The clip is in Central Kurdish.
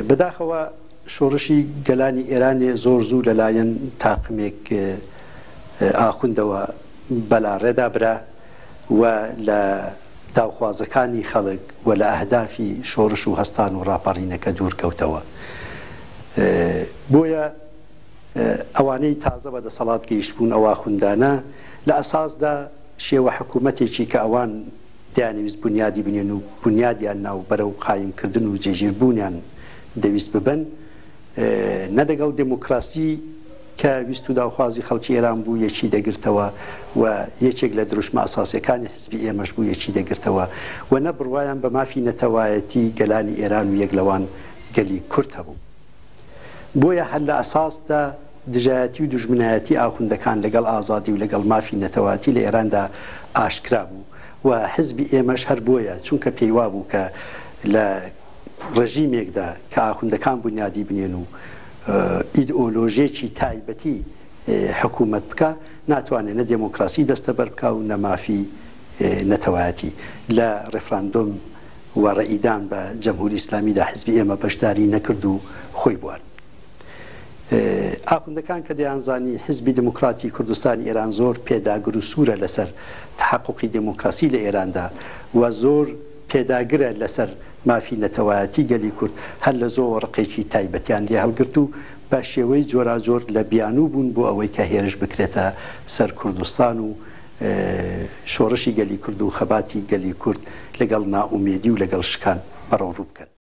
بەداخەوە شۆڕشی گەلانی ئێرانێ زۆر زوو لە لایەن تاقمێک ئاخوندەوە بەلاڕێدا برا و لە داوخوازەکانی خەڵک و لە ئەهدافی شۆڕش و هەستان و ڕاپەڕینەکە دوور کەوتەوە. بۆیە ئەوانەی تازە بە دەسەڵات گەیشتبوون ئەو ئاخوندانە لە ئەساسدا شێوە حکوومەتێکی کە ئەوان دەیانەویست بونیادی بنێن و بونیادیان نا و بەرەو قایم کردن و جێگیر بوونیان دەویست ببەن نە دەگەڵ دێموکراسی کە ویست و داوخوازی خەڵکی ئێران بوو یەکی دەگرتەوە و یەکێک لە دروشمە ئەساسیەکانی حیزبی ئێمەش بوو یەکی دەگرتەوە و نە بڕوایان بە مافی نەتەوایەتی گەلانی ئێران و یەک لەوان گەلی کورد هەبوو. بۆیە هەر لە ئەساسدا دژایەتی و دوژمنایەتی ئاخوندەکان لەگەڵ ئازادی و لەگەڵ مافی نەتەوایەتی لە ئێراندا ئاشکرا بوو و حزبی ئێمەش هەر بۆیە چونکە پێی وابوو کە لە ڕێژیمێکدا کە ئاخوندەکان بونیادی بنێن و ئیدئۆلۆژێکی تایبەتی حکوومەت بکا ناتوانێ نە دێمۆکراسی دەستەبەر بکا و نە مافی نەتەوایەتی لە ڕێفراندۆم و ڕەئیدان بە جەمهوری ئیسلامیدا حزبی ئێمە بەشداری نەکرد و خۆی بوارد. ئاخوندەکان کە دەیانزانی حزبی دێموکراتی کوردستانی ئێران زۆر پێداگر و سوورە لەسەر تەحەقوقی دێموکراسی لە ئێراندا و زۆر پێداگرە لەسەر مافی نەتەوایەتی گەلی کورد هەر لە زۆوە ڕقێکی تایبەتیان لێ هەڵگرت و بە شێوەی جۆراجۆر لە بیانوو بوون بۆ ئەوەی کە هێرش بکرێتە سەر کوردستان و شۆڕشی گەلی کورد و خەباتی گەلی کورد لەگەڵ نائومێدی و لەگەڵ شکان بەڕەوڕوو بکەن.